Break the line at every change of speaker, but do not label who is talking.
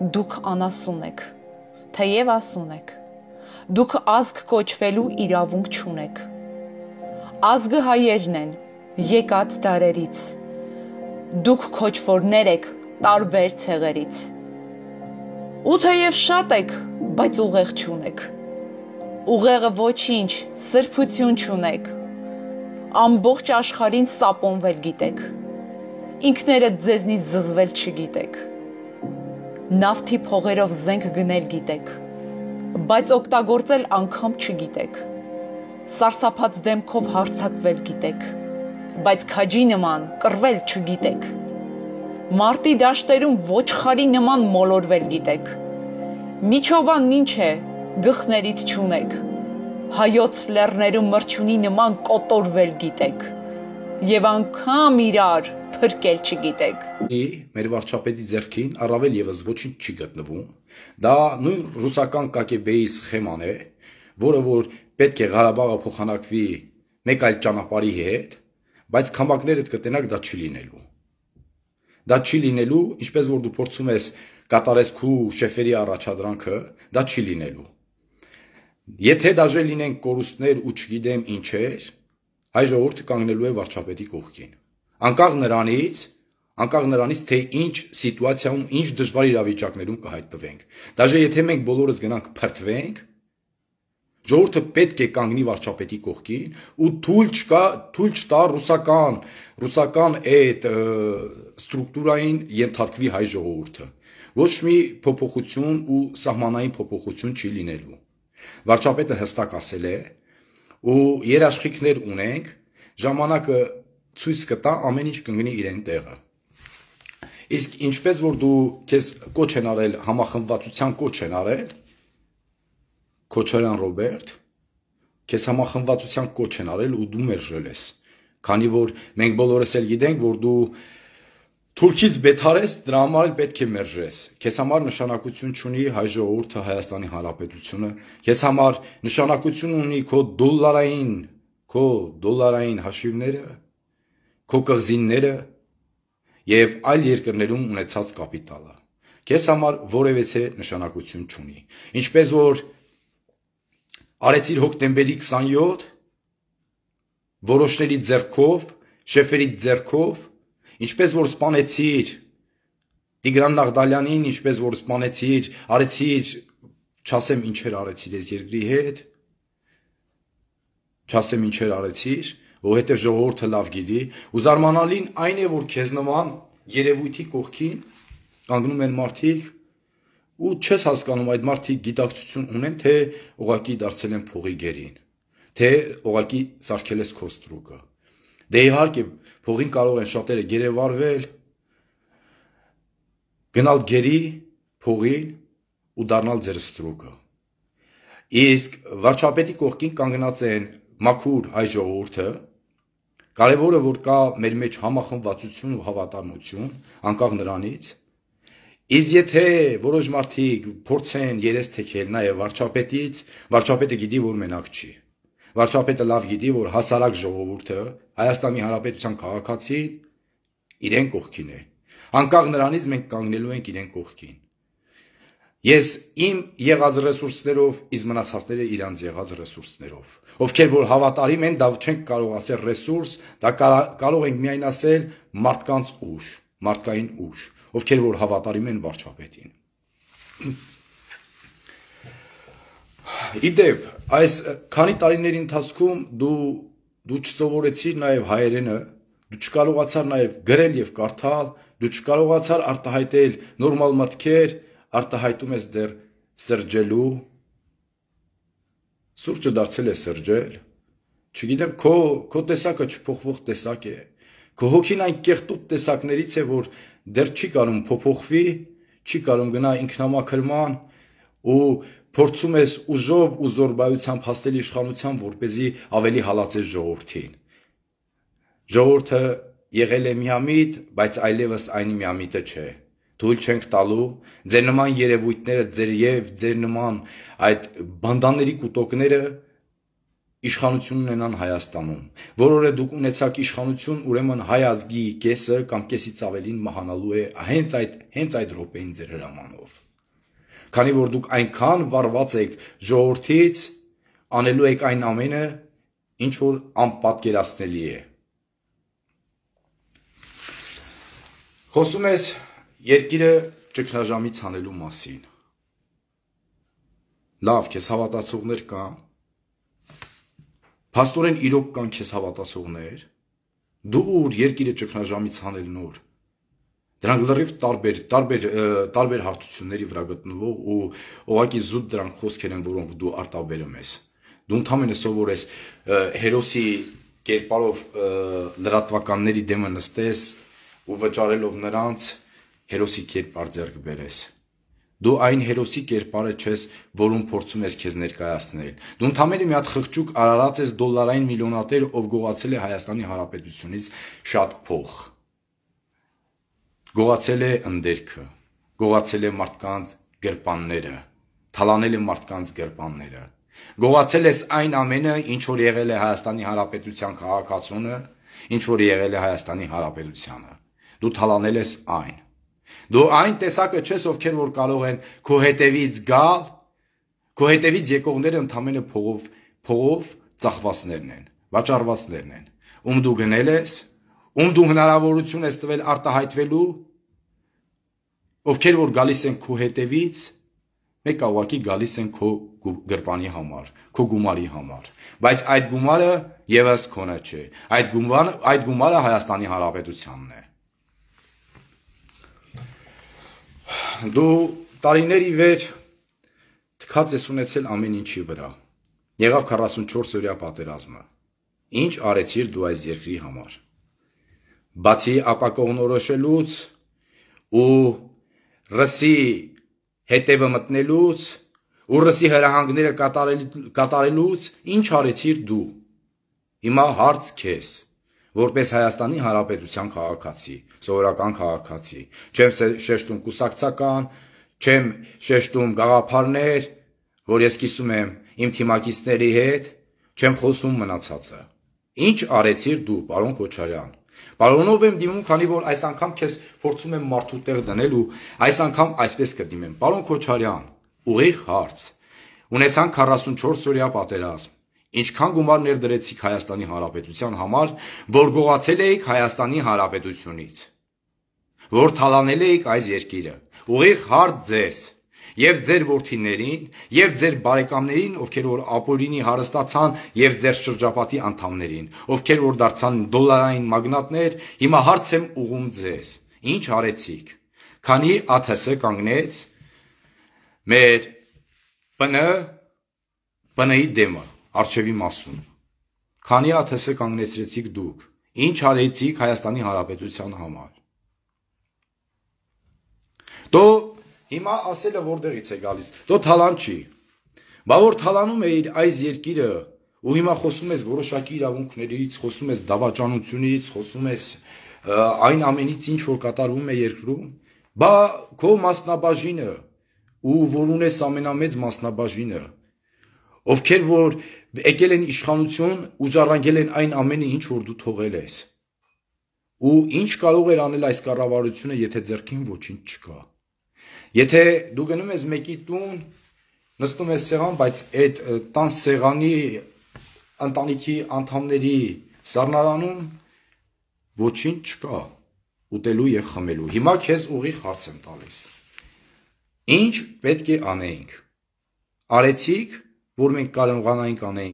դուք անասուն եք, թեև ասուն եք, դուք ազգ կոչվելու իրավունք չունեք, ազգը հայերն են, եկած դարերից, դուք քոչվորներ եք տարբեր ցեղերից, ու թեև շատ եք, բայց ուղեղ չունեք, ուղեղը ոչինչ, սրբություն չունեք, ամբողջ աշխարհին սապոնվել գիտեք, ինքներդ ձեզնից զզվել չգիտեք, նավթի փողերով զենք գնել գիտեք, բայց օգտագործել անգամ չգիտեք, սարսափած դեմքով հարձակվել գիտեք, բայց քաջի նման կռվել չգիտեք, մարտի դաշտերում ոչխարի նման մոլորվել գիտեք, միջովանն ինչ է, գլխներիդ չունեք, հայոց լեռներում մրջունի նման կոտորվել գիտեք, և անգամ իրար փրկել չգիտեք։
Մեր վարչապետի ձեռքին առավել ևս ոչինչ չի գտնվում, դա նույն ռուսական կակեբեի սխեման է, որը որ պետք է Ղարաբաղը փոխանակվի մեկ այլ ճանապարհի հետ, բայց քամակներդ կտենակ դա չի լինելու։ Դա չի լինելու, ինչպես որ դու փորձում ես կատարես քու շեֆերի առաջադրանքը, դա չի լինելու։ Եթե դաժե լինեն կորուստներ ու չգիտեմ ինչեր, հայ ժողովուրդը կանգնելու է վարչապետի կողքին։ Անկախ նրանից, թե ինչ սիտուացիայում, ինչ դժվար իրավիճակներում կհայտնվենք։ Դաժե եթե մենք բոլորս գնանք փրկվենք, ժողովուրդը պետք է կանգնի վարչապետի կողքին ու թույլ չտա ռուսական այդ ստրուկտուրային ենթարկվի հայ ժողովուրդը։ Ոչ մի փոփոխություն ու սահմանային փոփոխություն չի լինելու։ Վարչապետը հստակ ասել է, ու երաշխիքներ ունենք, ժամանակը ցույց կտա, ամեն ինչ կընկնի իրեն տեղը։ Իսկ ինչպես որ դու քեզ կոչ են արել, համախմբվածության կոչ են արել, Քոչարյան Ռոբերտ, քեզ համախմբվածության կոչ են արել ու դու մերժել ես, քանի որ մենք բոլորս էլ գիտենք, որ դու թուրքից բետար ես, դրա համար էլ պետք է մերժես, քեզ համար նշանակություն չունի հայ ժողովուրդը, Հայաստանի Հանրապետությունը, քեզ համար նշանակություն ունի քո դոլարային հաշիվները, քո կղզիները եւ այլ երկրներում ունեցած կապիտալը, քեզ համար որևէ նշանակություն չունի, ինչպես որ արեցիր հոկտեմբերի 27 որոշների ձեռքով, շեֆերի ձեռքով, ինչպես որ սպանեցիր Տիգրան Նաղդալյանին, ինչպես որ սպանեցիր, արեցիր, չասեմ ինչեր արեցիր այս երկրի հետ, չասեմ ինչեր արեցիր, որովհետև ժողովուրդը լավ գիտի, ու զարմանալին այն է, որ քեզ նման երևույթի կողքին կանգնում են մարդիկ, ու չես հասկանում այդ մարդիկ գիտակցություն ունեն, թե ուղղակի դարձել են փողի գերին, թե ուղղակի սարքել ես քո ստրուկը։ Դե իհարկե փողին կարող են շատերը գերեվարվել, գնալ գերի փողին ու դառնալ ձեր ստրուկը։ Իսկ վարչապետի կողքին կանգնած են մաքուր հայ ժողովուրդը, կարևորը որ կա մեր մեջ համախմբվածություն ու հավատարմություն, անկախ նրանից, իսկ եթե որոշ մարդիկ փորձեն երես թեքել նաև վարչապետից, վարչապետը գիտի, որ մենակ չի։ Վարչապետը լավ գիտի, որ հասարակ ժողովուրդը, Հայաստանի Հանրապետության քաղաքացին իրեն կողքին է։ Անկախ նրանից մենք կանգնելու ենք իրեն կողքին։ Ես իմ եղած ռեսուրսներով, իսկ մնացածները իրանց եղած ռեսուրսներով։ Ովքեր որ հավատարիմ են, դա չենք կարող ասել ռեսուրս, դա կարող ենք միայն ասել մարդկանց ուժ, մարդկային ուժ, ովքեր որ հավատարիմ են վարչապետին։ Իդեպ, այս քանի տարիների ընթացքում դու չսովորեցիր նաև հայերենը, դու չկարողացար նաև գրել եւ կարդալ, դու չկարողացար արտահայտել նորմալ մտքեր, արտահայտում ես դեռ սրճելու, սուրճը դարձել է սրճել, չգիտեմ, քո տեսակը չփոխվող տեսակ է, քո հոգին այն կեղտուտ տեսակներից է, որ դեռ չի կարող փոփոխվի, չի կարող գնա ինքնամաքրման ու փորձում ես ուժով ու զորբայությամբ հասնել իշխանության, որպեսզի ավելի հալածես ժողովրդին։ Ժողովուրդը եղել է միամիտ, բայց այլևս այն միամիտը չէ։ Թույլ չենք տալու ձեր նման երևույթները, ձեր նման այդ բանդաների կուտոկները իշխանություն ունենան Հայաստանում, որ օրը դուք ունեցաք իշխանություն, ուրեմն հայ ազգի կեսը կամ կեսից ավելին մահանալու է հենց այդ րոպեին ձեր հրամանով։ Քանի որ դուք այնքան վառված եք ժողովրդից, անելու եք այն ամենը, ինչ որ անպատկերացնելի է։ Խոսում ես երկիրը ճգնաժամից հանելու մասին։ Լավ, քեզ հավատացողներ կան։ Փաստորեն իրոք կան քեզ հավատացողներ։ Դու ուր երկիրը ճգնաժամից հանելն ուր։ Դրանք լրիվ տարբեր հարթությունների վրա գտնվող ու ուղղակի զուտ դրանք խոսքեր են, որոնք դու արտաբերում ես։ Դու ընդհանրապես սովորես հերոսի կերպարով լրատվականների դեմը նստես ու վճարելով նրանց հերոսի կերպար ձեռք բերես։ Դու այն հերոսի կերպարը չես, որում փորձում ես քեզ ներկայացնել։ Դու ընդհանրապես մի հատ խղճուկ արարած ես դոլարային միլիոնատեր, ով գողացել է Հայաստանի Հանրապետությունից շատ փող։ Գողացել է ընդերքը, գողացել է մարդկանց գրպանները, թալանել է մարդկանց գրպանները։ Գողացել ես այն ամենը, ինչ որ եղել է Հայաստանի Հանրապետության քաղաքացունը, ինչ որ եղել է Հայաստանի Հանրապետությանը։ Դու թալանել ես այն։ Դու այն տեսակը չես, ովքեր որ կարող են քո հետևից գալ, քո հետևից եկողները ընդհանրապես փողով ծախվածներն են, վաճառվածներն են, ում դու գնել ես, ում դու հնարավորություն ես տվել արտահայտվելու, ովքեր որ գալիս են քո հետևից, մեկը ուղղակի գալիս են քո գրպանի համար, քո գումարի համար, բայց այդ գումարը եւս քոնը չէ, այդ գումարը Հայաստանի Հանրապետությանն է։ Դու տարիների վեր թքած ես ունեցել ամեն ինչի վրա։ Եղավ 44-օրյա պատերազմը։ Ինչ արեցիր դու այս երկրի համար։ Բացի ապակողնորոշելուց ու ռսի հետևը մտնելուց ու ռսի հրահանգները կատարելուց ինչ արեցիր դու։ Հիմա հարց քեզ, որպես Հայաստանի Հանրապետության քաղաքացի, սովորական քաղաքացի, չեմ շեշտում կուսակցական, չեմ շեշտում գաղափարներ, որ ես կիսում եմ իմ թիմակիցների հետ, չեմ խոսում մնացածը։ Ինչ արեցիր դու, պարոն Քոչարյան։ Պարոնով եմ դիմում, քանի որ այս անգամ քեզ փորձում եմ մարդու տեղ դնել ու այս անգամ այսպես կդիմեմ։ Պարոն Քոչարյան, ուղիղ հարց։ Ունեցանք 44-օրյա պատերազմ։ Ինչքան գումար ներդրեցիք Հայաստանի Հանրապետության համար, որ գողացել էիք Հայաստանի Հանրապետությունից, որ թալանել էիք այս երկիրը։ Ուղիղ հարց ձեզ եւ ձեր որդիներին եւ ձեր բարեկամներին, ովքեր որ ապօրինի հարստացան եւ ձեր շրջապատի անդամներին, ովքեր որ դարձան դոլարային մագնատներ, հիմա հարց եմ ուղում ձեզ. ինչ արեցիք։ Քանի ԱԹՍ կանգնեց մեր ՊՆ-ի դեմը Արչևի մասում։ Քանի ԱԹՍ կանգնեցրեցիք դուք։ Ինչ արեցիք Հայաստանի Հանրապետության համար։ Դո հիմա ասելը որտեղից է գալիս։ Դո թալան չի։ Բա որ թալանում էիր այս երկիրը ու հիմա խոսում ես որոշակի իրավունքներից, խոսում ես դավաճանությունից, խոսում ես այն ամենից, ինչ որ կատարվում է երկրում, բա քո մասնաբաժինը ու որ ունես ամենամեծ մասնաբաժինը, ովքեր որ եկել են իշխանություն ու ժառանգել են այն ամենը, ինչ որ դու թողել ես։ Ու ինչ կարող էր անել այս կառավարությունը, եթե ձեռքին ոչինչ չկա։ Եթե դու գնում ես մեկի տուն, նստում ես սեղան, բայց այդ տան սեղանի ընտանիքի անդամների սառնարանում ոչինչ չկա ուտելու եւ խմելու։ Հիմա քեզ ուղիղ հարց եմ տալիս։ Ինչ պետք է անեինք։ Արեցիք, որ մենք կարողանայինք անենք